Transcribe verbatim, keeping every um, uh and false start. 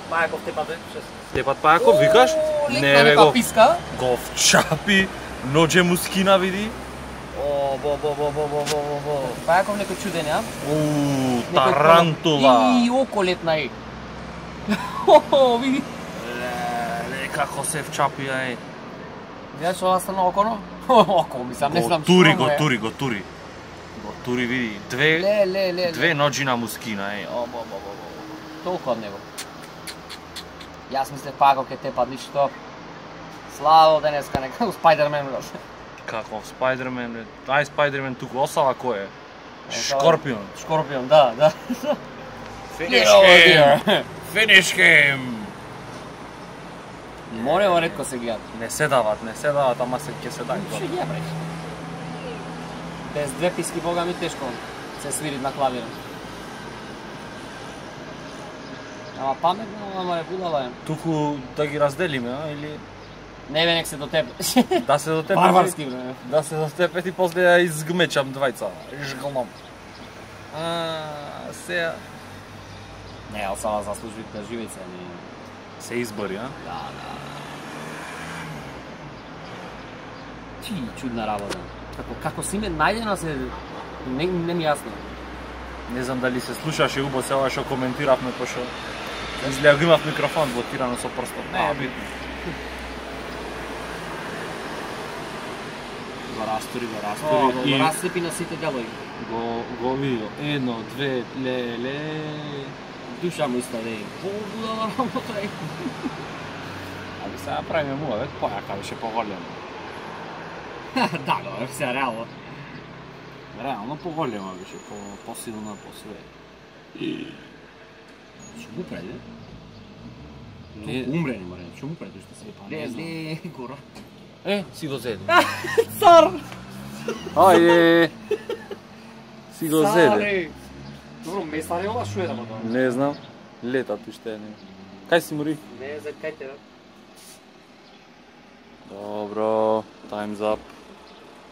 Пајаков тепат, Тепат Пајаков, викаш? Не, бе го. Писка. Го вчапи, ноđe му скина, види. О, бо, бо, бо, бо, бо, бо, бо. Пајаков некој чуден, ја? Уу, тарантула. И око летна е. О, види. Ле, како се вчапи, ај. Видиш ова страна оконо? Око, мислам, не знам што тури, му го е. тури, го тури. Го тури, види. Две, Ле, ле, ле, две ноđи на му скина, ај. О, бо, бо, бо, бо. Толку од него. Јас мислев Пајаков ке тепат ништо. Славо денеска некако Спајдермен. Каков Спајдермен, бе. Ај Спајдермен туку, осала кој е? Шкорпион. Шкорпион, да, да. Finish him! Finish him! Морево ретко се гледат. Не се дават, не се дават, ама се ќе се дај. Што ја бреш? Без две писки бога ми тешко се свири на клавир. Ама паметно, ама е будала е. Туку да ги разделиме, а, или Не бе, нек се до тебе. да се до тебе. Барбарски, бре. Да се до тебе и после ја изгмечам двајца. Жгалном. А, се Не, ал сама заслужи да живејце, не. се избори, а? Да, да. Чи чудна работа. Како како си ме најдена се не не ми јасно. Не знам дали се слушаше убо се ова што коментиравме, пошто изгледа го имав микрофон блокирано со прстот. Не, битно. Го растури, го О, растури, и- го расцепи на сите делови. Го го види. Едно, две, ле, ле. Душа му иста да е. Побудала работа е. Аби сега правиме муа, век појака беше поголема. Да, го, се реално. Реално поголема беше, по посилна, по све. И Што му преде? Не- Толку умре, не море. Што му преде што се не Не, знам. не, гора. Е, си го зеде. Цар! Ајде. Си го зеде. Царе! Добро, месаре ова што е да тоа? Не знам. Летат уште не. Кај си мори? Не, за кај те, да? Добро, time's up.